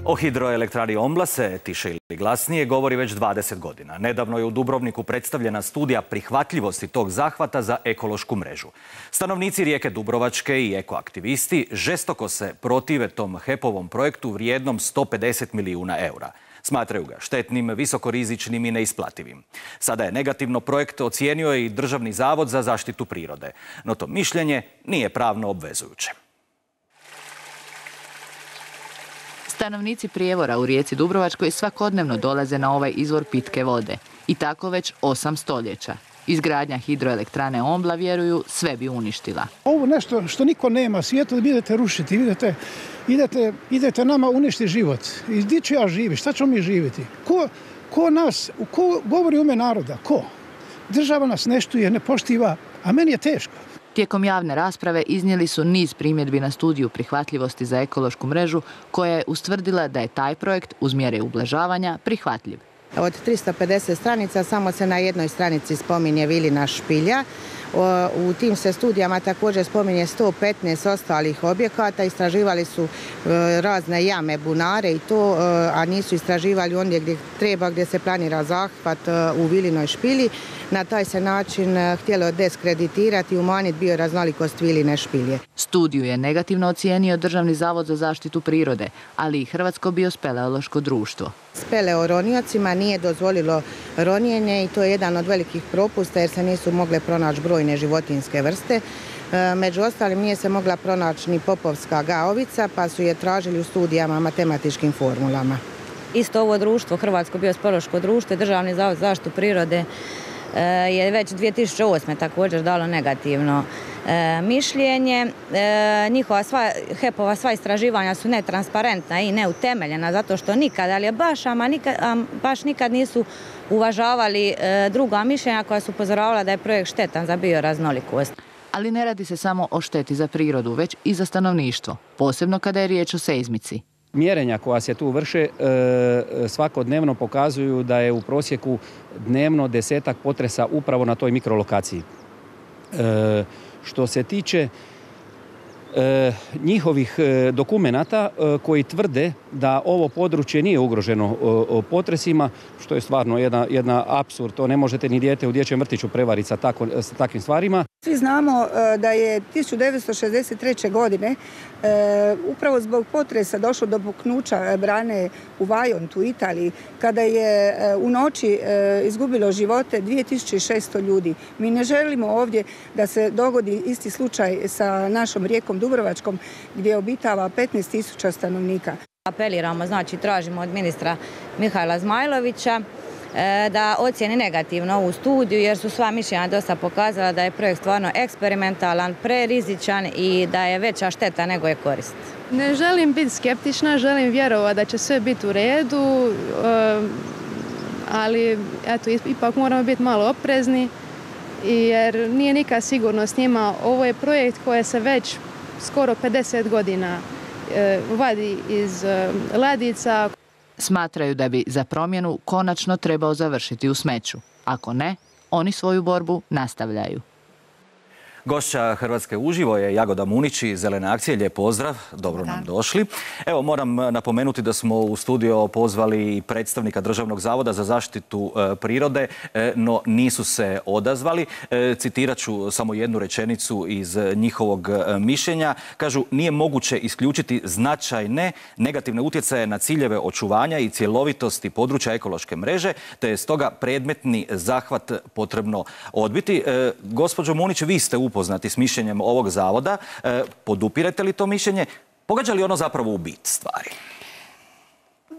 O hidroelektrani Ombla se tiše ili glasnije govori već 20 godina. Nedavno je u Dubrovniku predstavljena studija prihvatljivosti tog zahvata za ekološku mrežu. Stanovnici Rijeke Dubrovačke i ekoaktivisti žestoko se protive tom HEP-ovom projektu vrijednom 150 milijuna eura. Smatraju ga štetnim, visokorizičnim i neisplativim. Sada je negativno projekt ocijenio i Državni zavod za zaštitu prirode. No to mišljenje nije pravno obvezujuće. Stanovnici Prijevora u Rijeci Dubrovačkoj svakodnevno dolaze na ovaj izvor pitke vode. I tako već 8 stoljeća. Izgradnja hidroelektrane Ombla, vjeruju, sve bi uništila. Ovo nešto što niko nema svijetu, da idete rušiti, idete nama uništiti život. I gdje ću ja živjeti? Šta ćemo mi živjeti? Ko govori u ime naroda? Ko? Država nas ne štuje, ne poštiva, a meni je teško. Tijekom javne rasprave iznijeli su niz primjedbi na studiju prihvatljivosti za ekološku mrežu koja je ustvrdila da je taj projekt uz mjere ublažavanja prihvatljiv. Od 350 stranica samo se na jednoj stranici spominje Vilina špilja. U tim se studijama također spominje 115 ostalih objekata. Istraživali su razne jame, bunare i to, a nisu istraživali ondje gdje treba, gdje se planira zahvat u Vilinoj špilji. Na taj se način htjelo deskreditirati i umanjiti bioraznolikost Viline špilje. Studiju je negativno ocijenio Državni zavod za zaštitu prirode, ali i Hrvatsko biospeleološko društvo. Speleoroniocima nije dozvolilo ronjenje i to je jedan od velikih propusta jer se nisu mogle pronaći brojne životinjske vrste. Među ostalim nije se mogla pronaći ni popovska gaovica, pa su je tražili u studijama matematičkim formulama. Isto ovo društvo, Hrvatsko biospeleološko društvo i Državni zavod za zaštitu prirode je već 2008. također dalo negativno mišljenje. Njihova HEP-ova sva istraživanja su netransparentna i neutemeljena zato što nikad, ali baš nikad nisu uvažavali druga mišljenja koja su upozoravala da je projekt štetan za bioraznolikost. Ali ne radi se samo o šteti za prirodu, već i za stanovništvo, posebno kada je riječ o seizmici. Mjerenja koja se tu vrše svakodnevno pokazuju da je u prosjeku dnevno 10-ak potresa upravo na toj mikrolokaciji. Što se tiče njihovih dokumenata koji tvrde da ovo područje nije ugroženo potresima, što je stvarno jedna apsurd. To ne možete ni dijete u dječjem vrtiću prevariti sa takvim stvarima. Svi znamo da je 1963. godine upravo zbog potresa došlo do puknuća brane u Vajontu u Italiji, kada je u noći izgubilo živote 2600 ljudi. Mi ne želimo ovdje da se dogodi isti slučaj sa našom Rijekom Dubrovačkom gdje obitava 15.000 stanovnika. Apeliramo, znači tražimo od ministra Mihajla Zmajlovića da ocijeni negativno ovu studiju jer su sva mišljenja dosta pokazala da je projekt stvarno eksperimentalan, prerizičan i da je veća šteta nego je korist. Ne želim biti skeptična, želim vjerovati da će sve biti u redu, ali eto, ipak moramo biti malo oprezni jer nije nikad sigurno s njima. Ovo je projekt koji se već skoro 50 godina vadi iz ladica. Smatraju da bi za promjenu konačno trebao završiti u smeću. Ako ne, oni svoju borbu nastavljaju. Gošća Hrvatske uživo je Jagoda Munić iz Zelene akcije. Lijep pozdrav, dobro nam došli. Evo, moram napomenuti da smo u studio pozvali predstavnika Državnog zavoda za zaštitu prirode, no nisu se odazvali. Citirat ću samo jednu rečenicu iz njihovog mišljenja. Kažu, nije moguće isključiti značajne negativne utjecaje na ciljeve očuvanja i cjelovitosti područja ekološke mreže, te je stoga predmetni zahvat potrebno odbiti. Gospođo Munić, vi ste upoznati s mišljenjem ovog zavoda. Podupirete li to mišljenje? Pogađa li ono zapravo u bit stvari?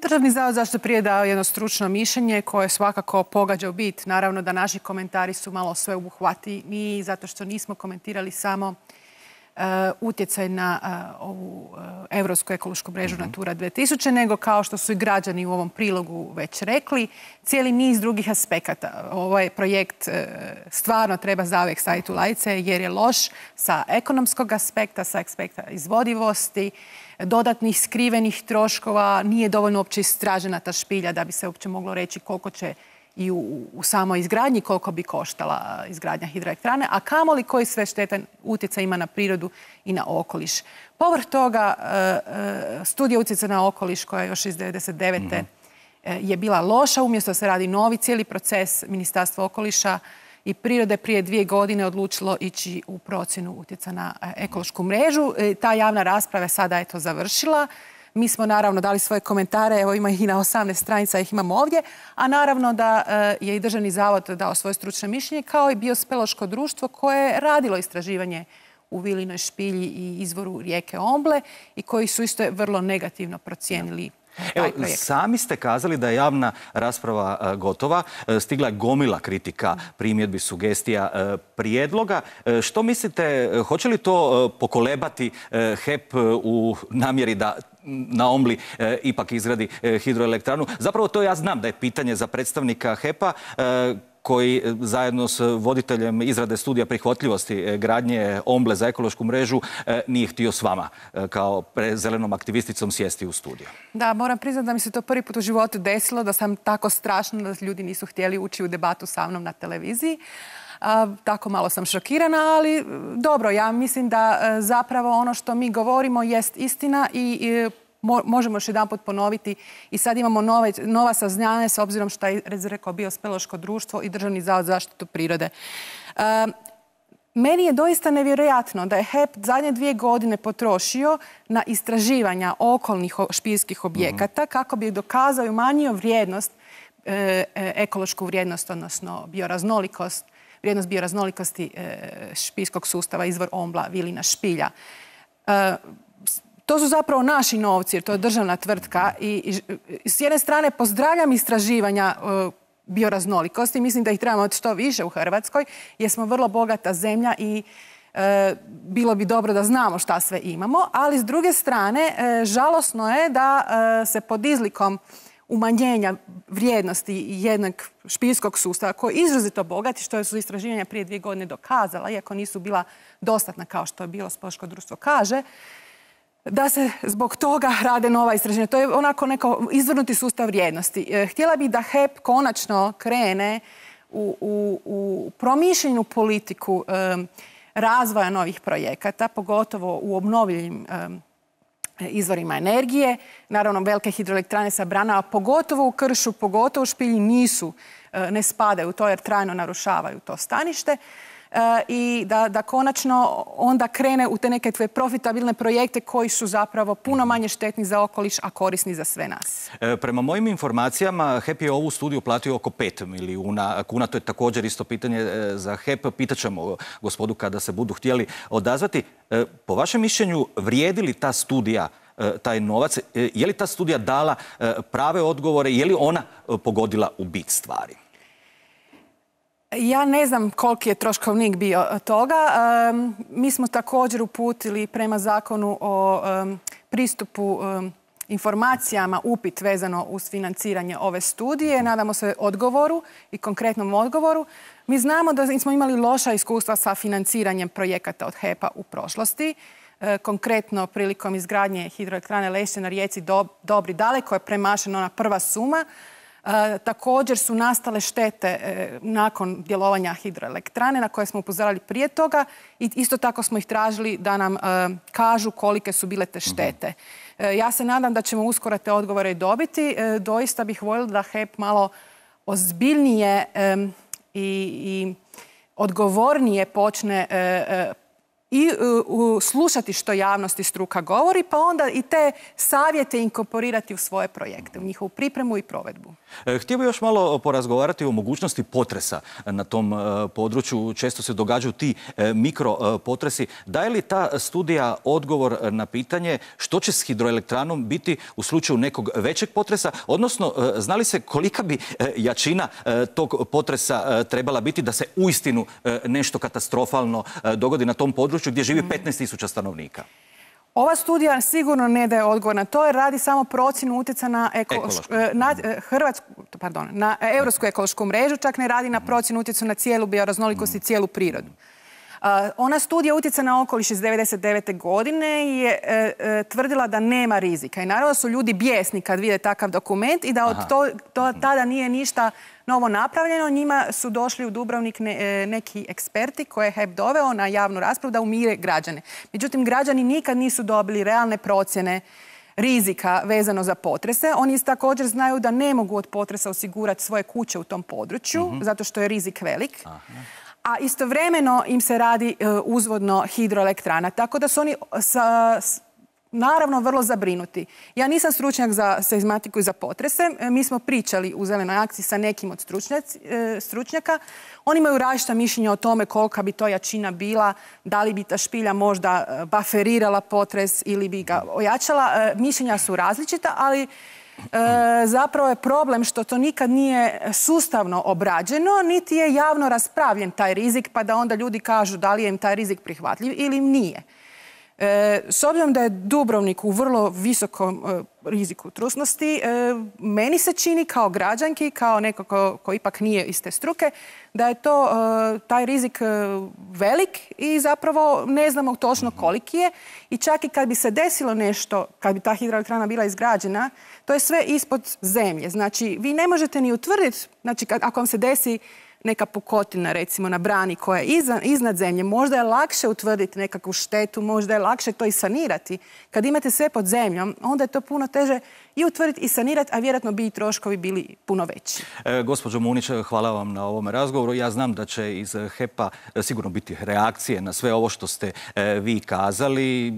Državni zavod za zaštitu prirode dao jedno stručno mišljenje koje svakako pogađa u bit. Naravno da naši komentari su malo sveobuhvatniji zato što nismo komentirali samo utjecaj na ovu Europsku ekološku mrežu Natura 2000, nego kao što su i građani u ovom prilogu već rekli, cijeli niz drugih aspekata. Ovaj projekt stvarno treba zauvijek staviti u ladice jer je loš sa ekonomskog aspekta, sa aspekta izvodivosti, dodatnih skrivenih troškova, nije dovoljno uopće istražena ta špilja da bi se uopće moglo reći koliko će i u samoj izgradnji koliko bi koštala izgradnja hidroelektrane, a kamoli koji sve štetan utjecaj ima na prirodu i na okoliš. Povrh toga, studija utjecaja na okoliš koja je još iz 1999. Je bila loša, umjesto da se radi novi cijeli proces. Ministarstvo okoliša i prirode prije 2 godine odlučilo ići u procjenu utjecaja na ekološku mrežu. Ta javna rasprava je sada eto završila. Mi smo naravno dali svoje komentare, evo ima ih i na 18 stranica, ih imamo ovdje, a naravno da je i Državni zavod dao svoje stručno mišljenje, kao i Biospeleološko društvo koje je radilo istraživanje u Vilinoj špilji i izvoru rijeke Omble i koji su isto vrlo negativno procijenili taj projekt. Sami ste kazali da je javna rasprava gotova. Stigla je gomila kritika, primjedbi, sugestija, prijedloga. Što mislite, hoće li to pokolebati HEP u namjeri da na Ombli ipak izgradi hidroelektranu? Zapravo to ja znam da je pitanje za predstavnika HEP-a koji zajedno s voditeljem izrade studija prihvatljivosti gradnje Omble za ekološku mrežu nije htio s vama kao zelenom aktivisticom sjesti u studiju. Da, moram priznati da mi se to prvi put u životu desilo, da sam tako strašno da ljudi nisu htjeli ući u debatu sa mnom na televiziji. Tako malo sam šokirana, ali dobro, ja mislim da zapravo ono što mi govorimo jest istina i možemo još jedan put ponoviti i sad imamo nova saznanja s obzirom što je rekao Biospeleološko društvo i Državni zavod za zaštitu prirode. Meni je doista nevjerojatno da je HEP zadnje 2 godine potrošio na istraživanja okolnih špiljskih objekata kako bi dokazao i umanjio vrijednost, ekološku vrijednost, odnosno bioraznolikost, vrijednost bioraznolikosti špiljskog sustava, izvor Ombla, Vilina špilja. To su zapravo naši novci jer to je državna tvrtka i s jedne strane pozdravljam istraživanja bioraznolikosti. Mislim da ih trebamo što više u Hrvatskoj jer smo vrlo bogata zemlja i bilo bi dobro da znamo šta sve imamo, ali s druge strane žalosno je da se pod izlikom umanjenja vrijednosti jednog špiljskog sustava koji je izrazito bogat i što su istraživanja prije 2 godine dokazala, iako nisu bila dostatna kao što je Biospeleološko društvo kaže, da se zbog toga rade nova istraživanja. To je onako neko izvrnuti sustav vrijednosti. Htjela bih da HEP konačno krene u promišljenu politiku razvoja novih projekata, pogotovo u obnovljivim izvorima energije. Naravno, velike hidroelektrane sa branama, pogotovo u kršu, pogotovo u špilji, ne spadaju u to jer trajno narušavaju to stanište. I da konačno onda krene u te neke profitabilne projekte koji su zapravo puno manje štetni za okoliš, a korisni za sve nas. Prema mojim informacijama, HEP je ovu studiju platio oko 5 milijuna kuna. To je također isto pitanje za HEP. Pitaćemo gospodu kada se budu htjeli odazvati. Po vašem mišljenju, vrijedi li ta studija taj novac? Je li ta studija dala prave odgovore? Je li ona pogodila u bit stvari? Ja ne znam koliki je troškovnik bio toga. Mi smo također uputili prema zakonu o pristupu informacijama upit vezano uz financiranje ove studije. Nadamo se odgovoru i konkretnom odgovoru. Mi znamo da smo imali loša iskustva sa financiranjem projekata od HEP-a u prošlosti. Konkretno prilikom izgradnje hidroelektrane Lešće na rijeci Dobri daleko je premašena ona prva suma. Također su nastale štete nakon djelovanja hidroelektrane na koje smo upozoravali prije toga i isto tako smo ih tražili da nam kažu kolike su bile te štete. Ja se nadam da ćemo uskoro te odgovore i dobiti. Doista bih voljela da HEP malo ozbiljnije i odgovornije počne i slušati što javnost i struka govori, pa onda i te savjete inkorporirati u svoje projekte, u njihovu pripremu i provedbu. Htio bih još malo porazgovarati o mogućnosti potresa na tom području. Često se događaju ti mikropotresi. Daje li ta studija odgovor na pitanje što će s hidroelektranom biti u slučaju nekog većeg potresa? Odnosno, zna li se kolika bi jačina tog potresa trebala biti da se uistinu nešto katastrofalno dogodi na tom području gdje živi 15.000 stanovnika? Ova studija sigurno ne daje odgovor na to jer radi samo procjenu utjecaja na Europsku ekološku mrežu, čak ne radi na procjenu utjecaja na cijelu bioraznolikost i cijelu prirodu. Ona studija utjecaja na okoliš iz 1999. godine je tvrdila da nema rizika. I naravno su ljudi bijesni kad vide takav dokument i da od tada nije ništa novo napravljeno. Njima su došli u Dubrovnik neki eksperti koje je HEP doveo na javnu raspravu da umire građane. Međutim, građani nikad nisu dobili realne procjene rizika vezano za potrese. Oni također znaju da ne mogu od potresa osigurati svoje kuće u tom području, zato što je rizik velik. A istovremeno im se radi uzvodno hidroelektrana. Tako da su oni naravno vrlo zabrinuti. Ja nisam stručnjak za seizmatiku i za potrese. Mi smo pričali u Zelenoj akciji sa nekim od stručnjaka. Oni imaju različita mišljenja o tome kolika bi to jačina bila, da li bi ta špilja možda baferirala potres ili bi ga ojačala. Mišljenja su različita, ali zapravo je problem što to nikad nije sustavno obrađeno, niti je javno raspravljen taj rizik, pa da onda ljudi kažu da li je im taj rizik prihvatljiv ili im nije. S obzirom da je Dubrovnik u vrlo visokom riziku trusnosti, meni se čini kao građanki, kao neko ko ipak nije iz te struke, da je to taj rizik velik i zapravo ne znamo točno koliki je. I čak i kad bi se desilo nešto, kad bi ta hidroelektrana bila izgrađena, to je sve ispod zemlje. Znači, vi ne možete ni utvrditi, znači ako vam se desi neka pukotina, recimo, na brani koja je iznad zemlje, možda je lakše utvrditi nekakvu štetu, možda je lakše to i sanirati. Kad imate sve pod zemljom, onda je to puno teže i utvrditi i sanirati, a vjerojatno bi i troškovi bili puno veći. Gospođo Munić, hvala vam na ovom razgovoru. Ja znam da će iz HEP-a sigurno biti reakcije na sve ovo što ste vi kazali.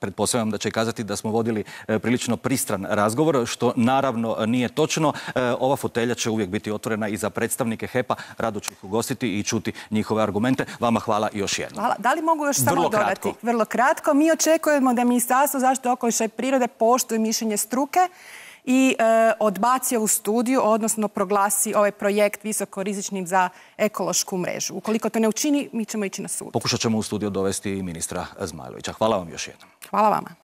Pretpostavljam da će kazati da smo vodili prilično pristran razgovor, što naravno nije točno. Ova fotelja će uvijek biti otvorena i za predstavnike HEP-a. Rado ću ih ugostiti i čuti njihove argumente. Vama hvala još jednom. Hvala. Da li mogu još samo dodati? Vrlo kratko. Mi očekujemo da Ministarstvo zaštite okoliša i prirode poštuje mišljenje struke i odbaci ovu studiju, odnosno proglasi ovaj projekt visokorizičnim za ekološku mrežu. Ukoliko to ne učini, mi ćemo ići na sud. Pokušat ćemo u studiju dovesti i ministra Zmajlovića. Hvala vam još jednom. Hvala vama.